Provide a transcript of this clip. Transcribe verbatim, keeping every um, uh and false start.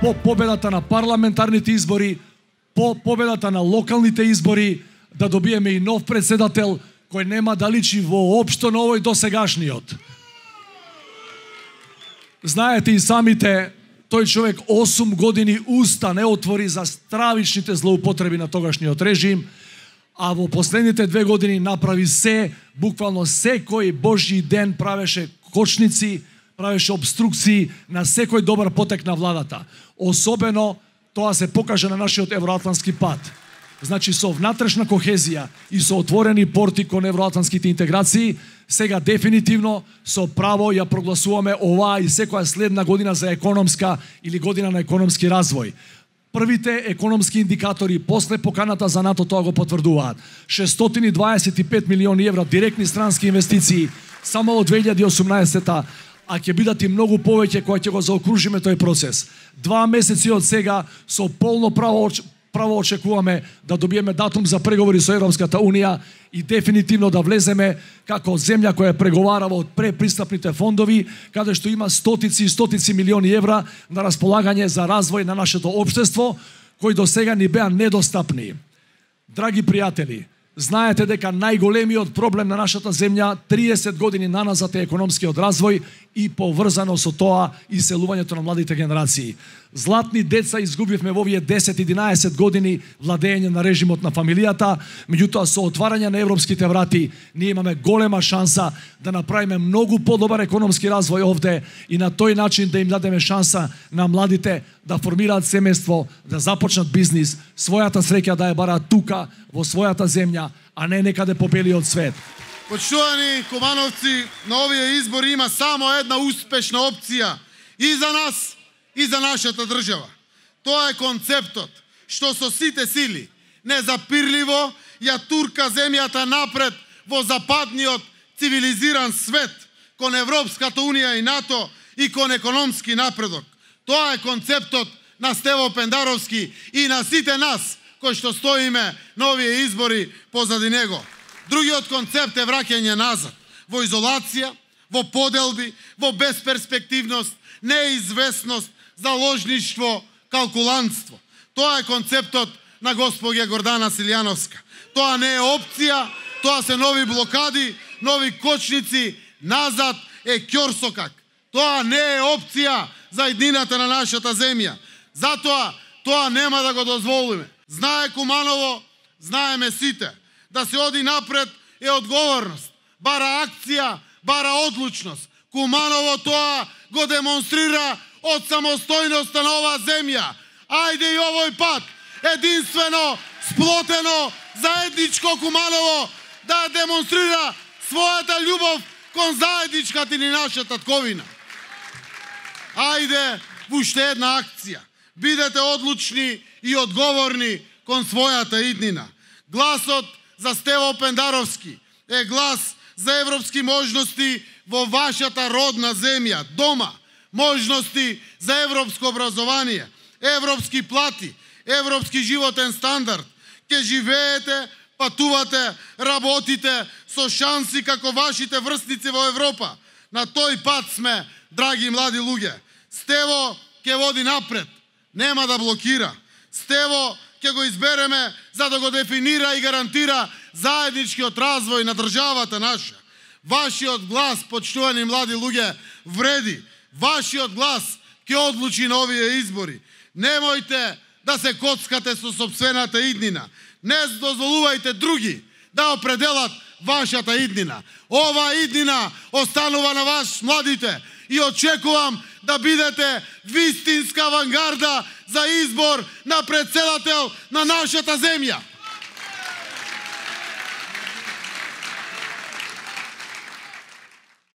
по победата на парламентарните избори, по победата на локалните избори, да добиеме и нов председател кој нема да личи воопшто на овој досегашниот. Знаете и самите, тој човек осум години уста не отвори за стравичните злоупотреби на тогашниот режим, а во последните две години направи се, буквално секој божји ден правеше кочници, правеше обструкции на секој добар потек на владата. Особено тоа се покажа на нашиот евроатлантски пат. Значи со внатрешна кохезија и со отворени порти кон евроатлантските интеграции, сега дефинитивно со право ја прогласуваме оваа и секоја следна година за економска или година на економски развој. Првите економски индикатори после поканата за НАТО тоа го потврдуваат. шестстотини и дваесет и пет милиони евра директни странски инвестиции само од две илјади и осумнаесета, а ќе бидат и многу повеќе кога ќе го заокружиме тој процес. Два месеци од сега со полно право право очекуваме да добиеме датум за преговори со Европската Унија и дефинитивно да влеземе како земја која преговарава од препристапните фондови, каде што има стотици и стотици милиони евра на располагање за развој на нашето општество, кои до сега ни беа недостапни. Драги пријатели, знаете дека најголемиот проблем на нашата земја триесет години наназад е економскиот развој и поврзано со тоа иселувањето на младите генерации. Златни деца изгубивме во овие десет-единаесет години владење на режимот на фамилијата, меѓутоа со отварање на европските врати ние имаме голема шанса да направиме многу подобар економски развој овде и на тој начин да им дадеме шанса на младите да формираат семејство, да започнат бизнис, својата среќа да ја бараат тука во својата земја, а не некаде по белиот свет. Почитувани кумановци, на овие избори има само една успешна опција и за нас, и за нашата држава. Тоа е концептот што со сите сили, незапирливо, ја турка земјата напред во западниот цивилизиран свет, кон Европската Унија и НАТО и кон економски напредок. Тоа е концептот на Стево Пендаровски и на сите нас кои што стоиме на овие избори позади него. Другиот концепт е враќање назад, во изолација, во поделби, во безперспективност, неизвестност, заложништво, калкулантство. Тоа е концептот на госпоѓа Гордана Силјановска. Тоа не е опција, тоа се нови блокади, нови кочници, назад е ќорсокак. Тоа не е опција за еднината на нашата земја. Затоа тоа нема да го дозволиме. Знае Куманово, знаеме сите. Да се оди напред е одговорност. Бара акција, бара одлучност. Куманово тоа го демонстрира од самостојноста на оваа земја. Ајде и овој пат, единствено, сплотено, заедничко Куманово да демонстрира својата љубов кон заедничката ни наша татковина. Ајде во уште една акција. Бидете одлучни и одговорни кон својата иднина. Гласот за Стево Пендаровски е глас за европски можности во вашата родна земја, дома. Можности за европско образование, европски плати, европски животен стандард. Ке живеете, патувате, работите со шанси како вашите врсници во Европа. На тој пат сме, драги млади луѓе. Стево ке води напред, нема да блокира. Стево ќе го избереме за да го дефинира и гарантира заедничкиот развој на државата наша. Вашиот глас, почитувани млади луѓе, вреди. Вашиот глас ќе одлучи на овие избори. Немојте да се коцкате со сопствената иднина. Не дозволувајте други да определат вашата иднина. Ова иднина останува на вас, младите, и очекувам да бидете вистинска авангарда за избор на председател на нашата земја.